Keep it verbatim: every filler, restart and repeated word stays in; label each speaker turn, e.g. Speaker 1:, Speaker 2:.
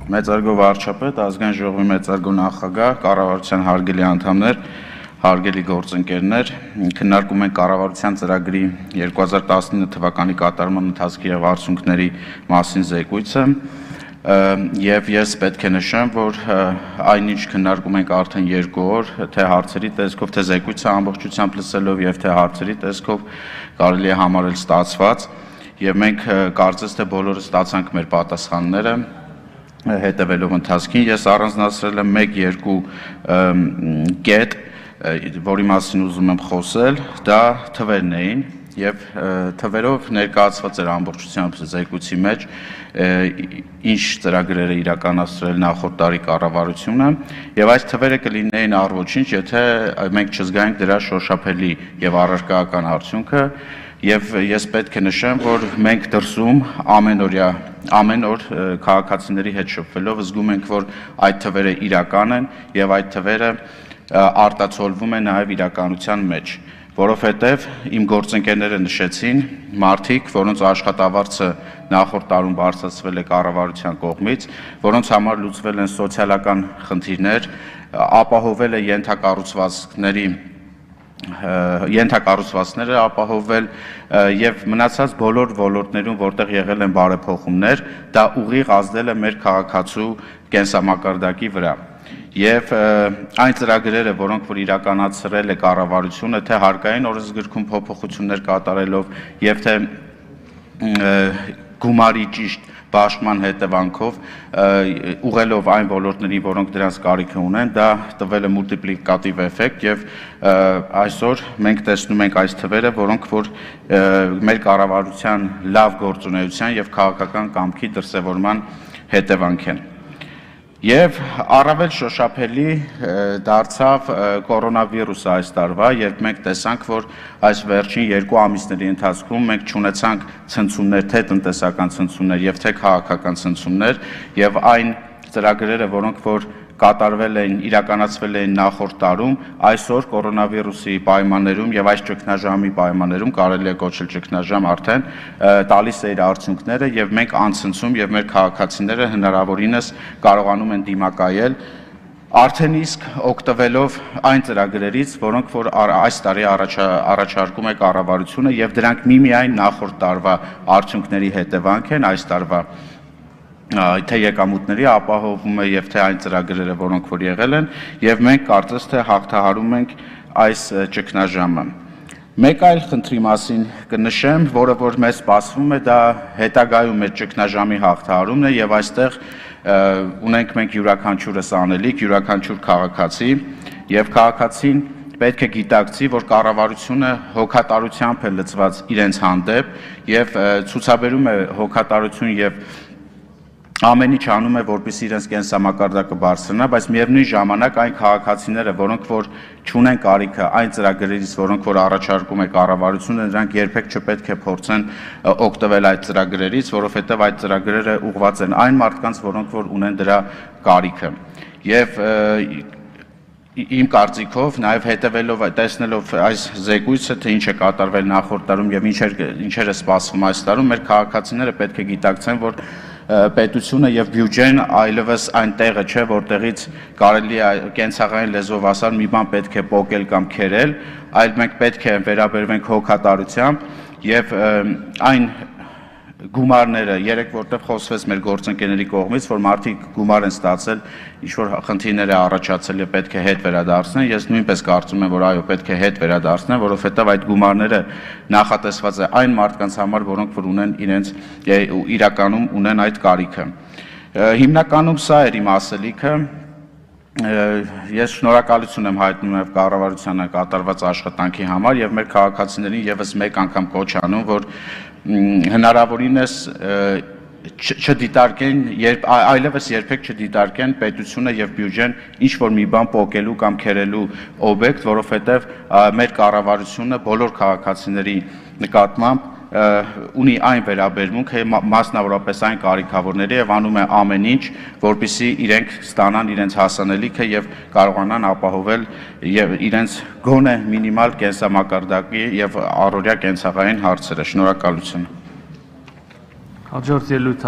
Speaker 1: Մեծարգո վարչապետ, ազգային ժողովի մեծարգո նախագահ, կառավարության հարգելի անդամներ, հարգելի գործընկերներ, քննարկում ենք կառավարության ծրագրի երկու հազար տասնինը թվականի կատարման ընթացքի եւ արդյունքների մասին զեկույցը, եւ ես պետք է նշեմ, որ այնինչ քննարկում ենք արդեն երկու օր, թե հարցերի տեսքով, թե զեկույցը ամբողջությամբ լսելով եւ թե հարցերի տեսքով կարելի է համարել ստացված, եւ մենք կարծես թե բոլորը ստացանք մեր պատասխանները հետևելով ընթացքին, ես առանձնացրել եմ մեկ-երկու կետ, որի մասին ուզում եմ խոսել, դա թվերն էին եւ թվերով ներկայացված էր ամբողջությամբ զեկույցի մեջ ինչ ծրագրեր է իրականացրել նախորդ տարի կառավարությունը եւ այս թվերը կլինեին առողջինչ, եթե մենք չզգայինք դրա շոշափելի եւ առարկայական արդյունքը Եվ ես պետք է նշեմ, որ մենք դրսում ամենօրյա, ամեն օր քաղաքացիների հետ շփվելով զգում ենք, որ այդ թվերը իրական են եւ այդ թվերը արտացոլվում են նաեւ իրականության մեջ, որովհետեւ իմ գործընկերները նշեցին մարդիկ, որոնց աշխատավարձը նախորդ տարում բարձրացվել է կառավարության կողմից, որոնց համար լուծվել են սոցիալական խնդիրներ, ապահովել է ենթակառուցվածքների ենթակառուցվածքները ապահովել եւ մնացած բոլոր ոլորտներում, որտեղ եղել են բարեփոխումներ, դա ուղիղ ազդել է մեր քաղաքացու կենսամակարդակի վրա։ Եվ այն ծրագրերը, որոնք որ իրականացրել է կառավարությունը, թե հարկային օրենսգրքում փոփոխություններ կատարելով եւ թե գումարի ճիշտ Բաշխման հետևանքով ուղղելով այն ոլորտների, որոնք դրանց կարիք ունեն, դա տվել է մուլտիպլիկատիվ էֆեկտ եւ այսօր մենք տեսնում ենք այս թվերը, որոնք որ մեր կառավարության լավ գործունեության եւ քաղաքական կամքի դրսեւորման հետևանք են։ Եվ առավել շոշափելի դարձավ կորոնավիրուսը այս տարվա, երբ մենք տեսանք, որ այս վերջին երկու ամիսների ընթացքում մենք չունեցանք ցնցումներ, թե տնտեսական ցնցումներ եւ թե քաղաքական ցնցումներ, եւ այն ծրագրերը, որոնք որ կատարվել են, իրականացվել են նախորդ տարում, այսօր կորոնավիրուսի պայմաններում եւ այս ճգնաժամի պայմաններում կարելի է կոչել ճգնաժամ արդեն տալիս է իր արդյունքները եւ մենք անցնցում եւ մեր քաղաքացիները հնարավորինս կարողանում են դիմակայել արդեն իսկ օգտվելով այն ծրագրերից, որոնք որ այս տարի առաջարկում է կառավարությունը եւ դրանք միմիայն նախորդ տարվա արդյունքների հետևանք են այս տարվա թե եկամուտների ապահովում է եւ թե այն ծրագրերը, որոնք որ եղել են, եւ մենք կարծես թե հաղթահարում ենք այս ճգնաժամը։ Մեկ այլ խնդրի մասին կնշեմ, որը որ մեզ սպասվում է, դա հետագայում մեր ճգնաժամի հաղթահարումն է եւ այստեղ ունենք մենք յուրաքանչյուրս անելիք, յուրաքանչյուր քաղաքացի եւ քաղաքացին պետք է գիտակցի, որ կառավարությունը հոգատարությամբ է լծված իրենց հանդեպ եւ ցուցաբերում է հոգատարություն եւ ամեն ինչ անում է, որպեսզի իրենց կենսամակարդակը բարձրանա, բայց միևնույն ժամանակ այն քաղաքացիները, որոնք որ չունեն կարիքը այն ծրագրերից, որոնք որ առաջարկում է կառավարությունը, նրանք երբեք չպետք է փորձեն օգտվել այդ ծրագրերից, որովհետև այդ ծրագրերը ուղղված են այն մարդկանց, որոնք որ ունեն դրա կարիքը։ Եվ իմ կարծիքով նաև հետևելով տեսնելով այս զեկույցը, թե ինչ է կատարվել նախորդ տարում եւ ինչեր ինչեր է սպասվում այս տարում, մեր քաղաքացիները պետք է գիտակցեն, որ պետությունը եւ բյուջեն այլևս այն տեղը չէ, որտեղից կարելի է կենցաղային լեզվով ասած մի բան պետք է փոկել կամ քերել, այլ մենք պետք է վերաբերվենք հոգատարությամբ եւ այն գումարները, երեք որտեղ խոսվեց մեր գործընկերների կողմից, որ մարդիկ գումար են ստացել, ինչ որ խնդիրներ է առաջացել եւ պետք է հետ վերադարձնեն, ես նույնպես կարծում եմ, որ այո, պետք է հետ վերադարձնեն, որովհետեւ այդ գումարները նախատեսված է այն մարդկանց համար, որոնք որ ունեն իրենց իրականում ունեն այդ կարիքը։ Հիմնականում սա էր իմ ասելիքը։ Ես շնորհակալություն եմ հայտնում եւ կառավարությանը կատարված աշխատանքի համար եւ մեր քաղաքացիներին եւս մեկ անգամ կոչ անում, որ հնարավորինս չդիտարկեն, երբ այլևս երբեք չդիտարկեն պետությունը եւ բյուջեն ինչ որ մի բան փոկելու կամ քերելու օբյեկտ, որովհետեւ մեր կառավարությունը բոլոր քաղաքացիների նկատմամբ ունի այն վերաբերմունք, մասնավորապես այն կարիքավորների եւ անում է ամեն ինչ, որպեսզի իրենք ստանան իրենց հասանելիքը եւ կարողանան ապահովել եւ իրենց գոնե մինիմալ կենսամակարդակի եւ առօրյա կենցաղային հարցերը։ Շնորհակալություն։
Speaker 2: Հաջորդ ելույթ